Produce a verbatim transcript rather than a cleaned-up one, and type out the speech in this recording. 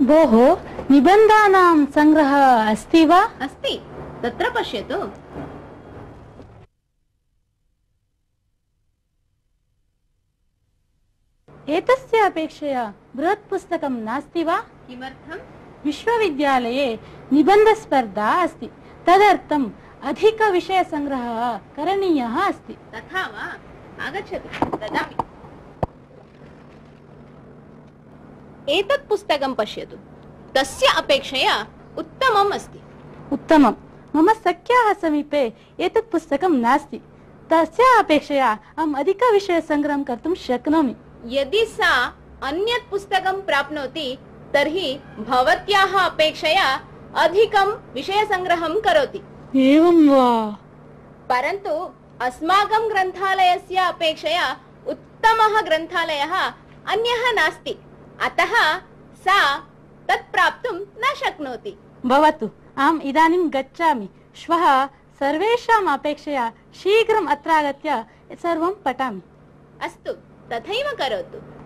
भोः, निबन्धानां सङ्ग्रहः अस्ति वा? अस्ति, तत्र पश्यतु। एतस्य अपेक्षया बृहत् पुस्तकं नास्ति वा? किमर्थम्? विश्वविद्यालये निबन्धस्पर्धा अस्ति, तदर्थम् अधिकविषयसङ्ग्रहः करणीयः अस्ति। तथा वा? आगच्छतु, ददामि। एतत् पुस्तकं पश्यतु, तस्य अपेक्षया उत्तमम् अस्ति। उत्तमम्। मम सख्याः समीपे एतत् पुस्तकं नास्ति, तस्य अपेक्षया अहम् अधिकविषयसङ्ग्रहं कर्तुं शक्नोमि। यदि सा अन्यत् पुस्तकं प्राप्नोति तर्हि भवत्याः अपेक्षया अधिकं विषयसङ्ग्रहं करोति। एवं वा? परन्तु अस्माकं ग्रन्थालयस्य अपेक्षया उत्तमः ग्रन्थालयः अन्यः नास्ति, अतः सा तत् प्राप्तुं न शक्नोति। भवतु, अहम् इदानीं गच्छामि। श्वः सर्वेषाम् अपेक्षया शीघ्रम् अत्र आगत्य सर्वं पठामि। अस्तु, तथैव करोतु।